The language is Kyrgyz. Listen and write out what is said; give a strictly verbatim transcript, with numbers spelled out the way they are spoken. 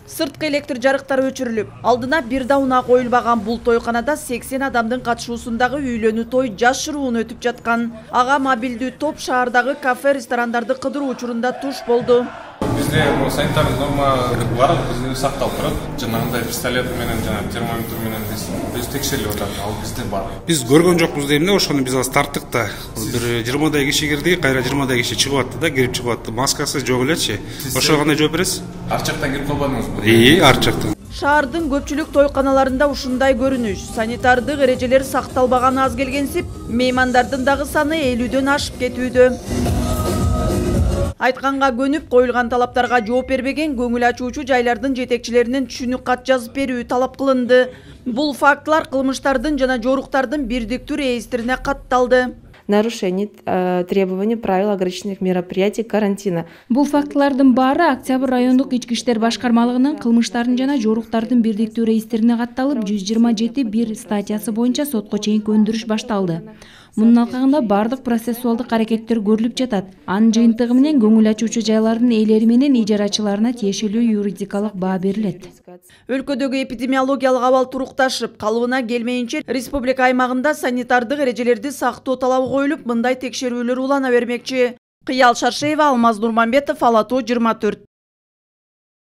Сырткы электр жарыктары өчүрүлүп, алдына бир да унаа коюлбаган бул тойканада сексен адамдын катышуусундагы үйлөнүү той жашыруун өтүп жаткан. Ага мобилдүү топ шаардагы кафе, ресторандарды кыдыруу учурунда туш болду. Бизде санитардык норма бар, бизде сакталып турат. Жанагындай пистолет менен жана термометр менен биз текшерилип атат, ал бизде бар. Биз көргөн жокпуз дейм да, ошону биз азыр тарттык да. Бир жыйырмадай киши кирди, кайра жыйырмадай киши чыгып атты да, кирип чыгып атты. Маскасы жок элечи. Ошого кандай жооп бересиз? Ар жактан кирип калбадыңызбы? Ии, ар жактан. Шаардын көпчүлүк тойканаларында ушундай көрүнүш. Санитардык эрежелер сакталбаганы аз келгенсип, меймандардын дагы саны элүүдөн ашып кетүүдө. Айтканга көнүп, коюлган талаптарга жооп бербеген көңүл ачуучу жайлардын жетекчилеринин түшүнүк кат жазып берүү талап кылынды. Бул фактылар кылмыштардын жана жоруктардын бирдиктүү реестрине катталды. Нарушение э, требований правил ограничительных мероприятий карантина. Бул фактылардын баары Октябрь райондук ички иштер башкармалыгынын кылмыштардын жана жоруктардын бирдиктүү реестрине катталып, жүз жыйырма жети бир статьясы боюнча сотко чейинки өндүрүш башталды. Мунун алкагында бардык процессуалдык аракеттер көрүлүп жатат. Анын жыйынтыгы менен көңүл ачуучу жайлардын ээлери менен ижарачыларына тиешелүү юридикалык баа берилет. Өлкөдөгү эпидемиологиялык абал турукташып, калыбына келмейинче республика аймагында санитардык эрежелерди сактоо талабы коюлуп, мындай текшерүүлөр улана бермекчи. Кыял Шаршеева, Алмаз Нурманбетов, Ала Тоо жыйырма төрт.